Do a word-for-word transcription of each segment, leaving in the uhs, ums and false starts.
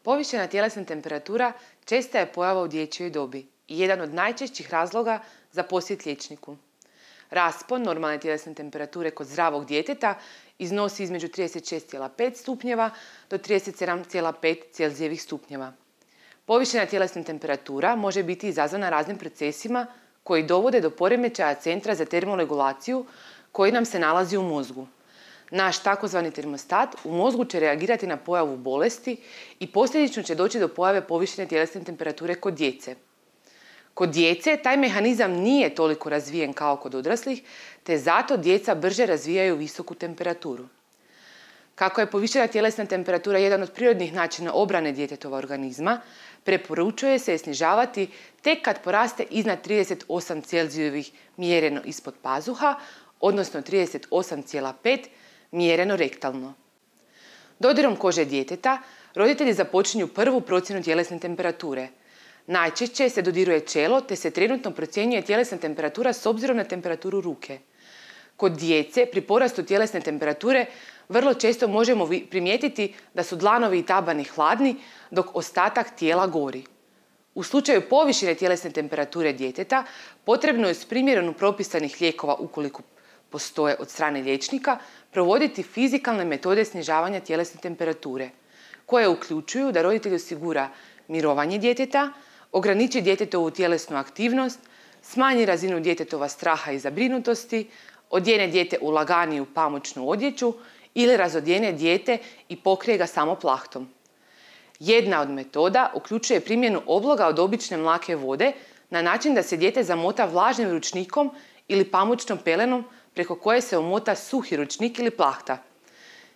Povišena tjelesna temperatura česta je pojava u dječjoj dobi i jedan od najčešćih razloga za posjet liječniku. Raspon normalne tjelesne temperature kod zdravog djeteta iznosi između trideset šest zarez pet stupnjeva do trideset sedam zarez pet Celzijevih stupnjeva. Povišena tjelesna temperatura može biti izazvana raznim procesima koji dovode do poremećaja centra za termoregulaciju koji nam se nalazi u mozgu. Naš takozvani termostat u mozgu će reagirati na pojavu bolesti i posljedično će doći do pojave povišene tjelesne temperature kod djece. Kod djece taj mehanizam nije toliko razvijen kao kod odraslih, te zato djeca brže razvijaju visoku temperaturu. Kako je povišena tjelesna temperatura jedan od prirodnih načina obrane djetetova organizma, preporučuje se je snižavati tek kad poraste iznad trideset osam Celzijevih mjereno ispod pazuha, odnosno trideset osam zarez pet mjereno rektalno. Dodirom kože djeteta, roditelji započinju prvu procjenu tjelesne temperature. Najčešće se dodiruje čelo te se trenutno procjenjuje tjelesna temperatura s obzirom na temperaturu ruke. Kod djece pri porastu tjelesne temperature vrlo često možemo primijetiti da su dlanovi i tabani hladni dok ostatak tijela gori. U slučaju povišene tjelesne temperature djeteta potrebno je s primjerom propisanih lijekova, ukoliko postoje od strane liječnika, provoditi fizikalne metode snižavanja tjelesne temperature, koje uključuju da roditelj osigura mirovanje djeteta, ograniči djetetovu tjelesnu aktivnost, smanji razinu djetetova straha i zabrinutosti, odjene dijete u laganiju pamučnu odjeću ili razodjene dijete i pokrije ga samo plahtom. Jedna od metoda uključuje primjenu obloga od obične mlake vode na način da se dijete zamota vlažnim ručnikom ili pamučnom pelenom preko koje se omota suhi ručnik ili plahta.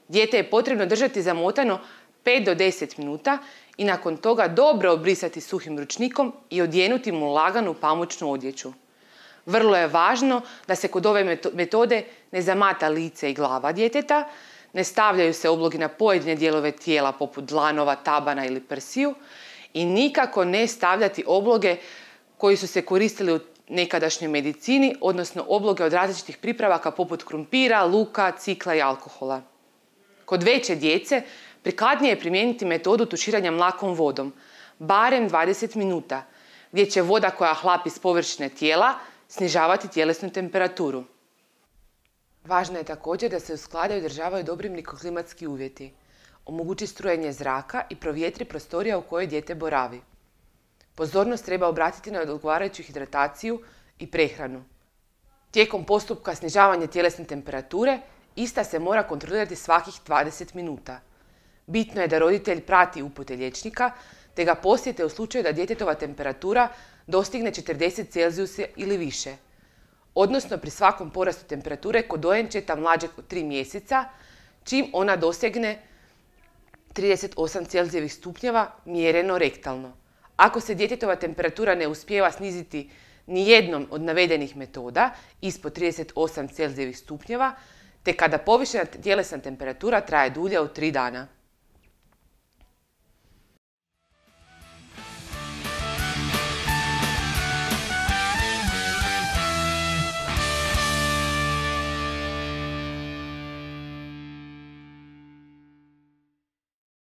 Dijete je potrebno držati zamotano pet do deset minuta i nakon toga dobro obrisati suhim ručnikom i odjenuti mu laganu pamučnu odjeću. Vrlo je važno da se kod ove metode ne zamata lice i glava djeteta, ne stavljaju se oblogi na pojedine dijelove tijela poput dlanova, tabana ili prsiju i nikako ne stavljati obloge koji su se koristili u nekadašnjoj medicini, odnosno obloge od različitih pripravaka poput krumpira, luka, cikla i alkohola. Kod veće djece prikladnije je primijeniti metodu tuširanja mlakom vodom, barem dvadeset minuta, gdje će voda koja hlapi s površine tijela snižavati tjelesnu temperaturu. Važno je također da se u skladu održavaju dobri mikroklimatski uvjeti, omogući strujanje zraka i provjetri prostorija u kojoj dijete boravi. Pozornost treba obratiti na odgovarajuću hidrataciju i prehranu. Tijekom postupka snižavanja tjelesne temperature ista se mora kontrolirati svakih dvadeset minuta. Bitno je da roditelj prati upute liječnika te ga posjete u slučaju da djetetova temperatura dostigne četrdeset Celzijusa ili više, odnosno pri svakom porastu temperature kod dojenčeta mlađeg od tri mjeseca, čim ona dosegne trideset osam Celzijevih stupnjeva mjereno rektalno. Ako se djetetova temperatura ne uspijeva sniziti ni jednom od navedenih metoda ispod trideset osam Celzijevih stupnjeva, te kada povišena tjelesna temperatura traje dulje od tri dana.